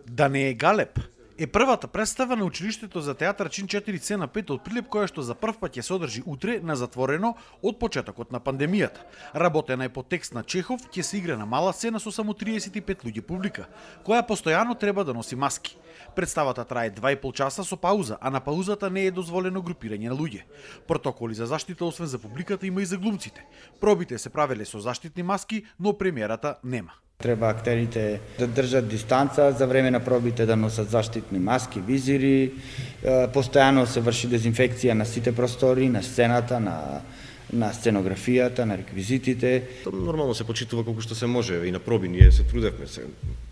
Да не е галеб е првата представа на училиштето за театар чин 4C на 5 од Прилеп, која што за прв пат ќе се одржи утре на затворено од почетокот на пандемијата. Работена е по текст на Чехов, ќе се игра на мала сцена со само 35 луѓе публика, која постојано треба да носи маски. Представата трае 2,5 часа со пауза, а на паузата не е дозволено групирање на луѓе. Протоколи за заштита освен за публиката има и за глумците. Пробите се правеле со заштитни маски, но премиерата нема. Треба актерите да држат дистанца, за време на пробите да носат заштитни маски, визири, постојано се врши дезинфекција на сите простори, на сцената, на сценографијата, на реквизитите. Нормално се почитува колку што се може и на проби ние се трудевме се.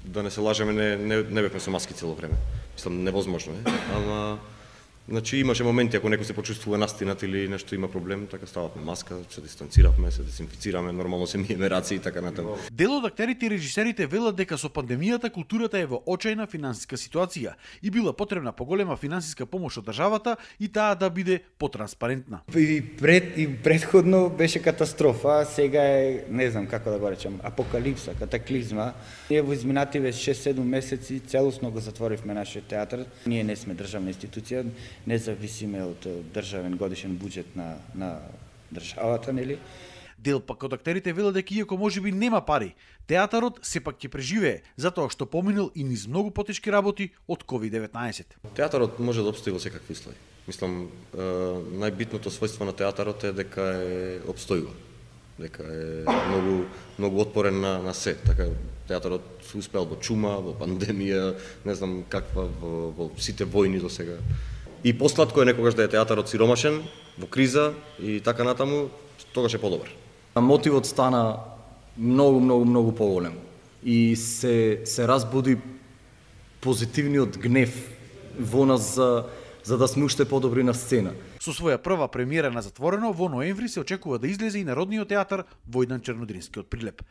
Да не се лажеме, не бевме со маски цело време. Мислам невозможно е, ама значи имаше моменти ако некој се почувствува настинат или нешто има проблем, така стававме маска, се дистанциравме, се дезинфицираме, нормално се миеме раци и така натаму. Дел од актерите и режисерите велат дека со пандемијата културата е во очајна финансиска ситуација и била потребна поголема финансиска помош од државата и таа да биде потранспарентна. И предходно беше катастрофа, сега е, не знам како да го речам, апокалипса, катаклизма. Ние во изминативе 6-7 месеци целосно го затворивме нашиот театар. Ние не сме државна институција, не зависиме од државен годишен буџет на државата, нели? Дел пак од актерите велат дека иако можеби нема пари, театарот сепак ќе преживее, затоа што поминал и низ многу потешки работи од COVID-19. Театарот може да обстои во секакви услови. Мислам, најбитното својство на театарот е дека е обстојува, дека е многу отпорен на се. Така театарот се успеал во чума, во пандемија, не знам каква, во сите војни до сега. И посладко е некогаш да е театарот сиромашен, во криза и така натаму, тогаш е подобар. Мотивот стана многу поголем и се разбуди позитивниот гнев во нас за да сме уште подобри на сцена. Со своја прва премиера на затворено, во ноември се очекува да излезе и Народниот театар Војдан Чернодрински од Прилеп.